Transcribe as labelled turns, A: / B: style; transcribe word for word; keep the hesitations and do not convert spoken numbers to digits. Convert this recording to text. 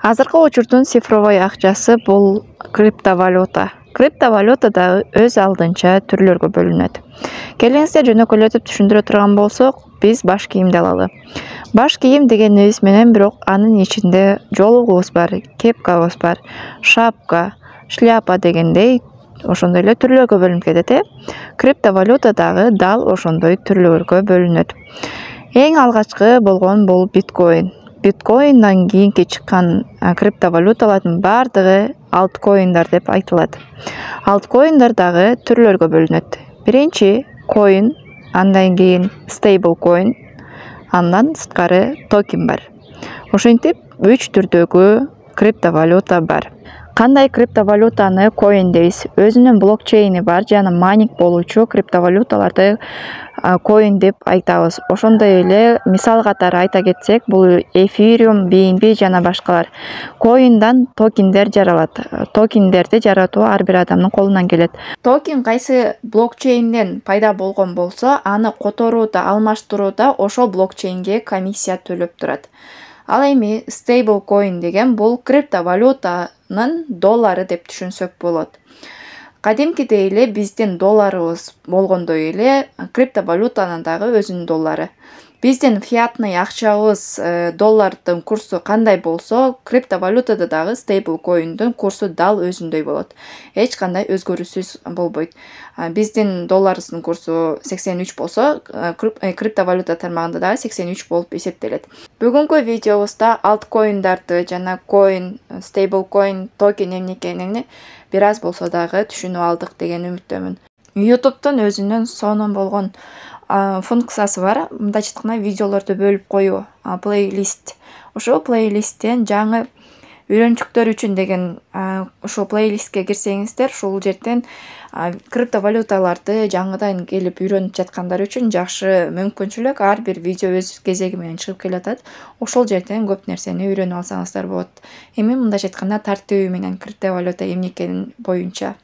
A: Азыркы учурдун цифровой акчасы бул криптовалюта. Криптовалюта дагы өз алдынча түрлөргө бөлүнөт. Келиңиздер жөнөкөйлөтүп түшүндүрө турган болсок, биз баш кийимди алалы. Баш кийим дегенибиз менен бирок анын ичинде жолугубуз бар, кепкабыз бар, шапка, шляпа дегендей ошондой эле түрлөргө бөлүнүп кетет э. Криптовалюта дагы дал ошондой түрлөргө бөлүнөт. Эң алгачкы болгон бул биткоин. Биткоиндан кийинки чыккан криптовалюталардын бардыгы алткоиндар деп айтылат. Алткоиндар дагы түрлөргө бөлүнөт. Биринчи коин, андан кийин стейбл коин, андан сырткары токен бар. Ошентип үч түрдөгү криптовалюта бар. Кандай криптовалютаны коин дейбиз? Өзүнүн блокчейни бар жана майнинг болуучу криптовалюталарды коин деп айтабыз. Ошондой эле мисал катары айта кетсек, бул эфириум, би эн би жана башкалар. Коиндан токендер жаралат. Токендерди жаратуу ар бир адамдын колунан келет. Токен кайсы блокчейнден пайда болгон болсо, аны которууда, алмаштырууда ошол блокчейнге комиссия төлөп турат. Ал эми стейбл коин деген бул криптовалютанын доллары деп түшүнсөк болот. Кадимкидей эле биздин долларыбыз болгондой эле криптовалютанын дагы өзүнүн доллары. Биздин фиатный акчабыз доллардын курсу кандай болсо, криптовалютада дагы стейбл коиндин курсу дал өзүндөй болот. Эч кандай өзгөрүүсүз болбойт. Биздин долларыбыздын курсу сексен үч болсо, криптовалюта тармагында дагы сексен үч болуп эсептелет. Бүгүнкү видеобузда алткоиндарды жана коин, стейбл коин, токен эмне экенин бир аз болсо дагы түшүнүп алдык деген үмүттөмүн. YouTube'тун өзүнүн сонун болгон функциясы бар. Мындайча айтканда видеолорду бөлүп коюу, плейлист. Ошол плейлисттен жаңы үйрөнчүктөр үчүн деген ошол плейлистке кирсеңиздер, ушул жерден криптовалюталарды жаңыдан келип үйрөнүп жаткандар үчүн жакшы мүмкүнчүлүк. Ар бир видео өз кезеги менен чыгып келатат. Ошол жерден көп нерсени үйрөнүп алсаңыздар болот. Эми мындайча айтканда тартиби менен криптовалюта эмне экени боюнча.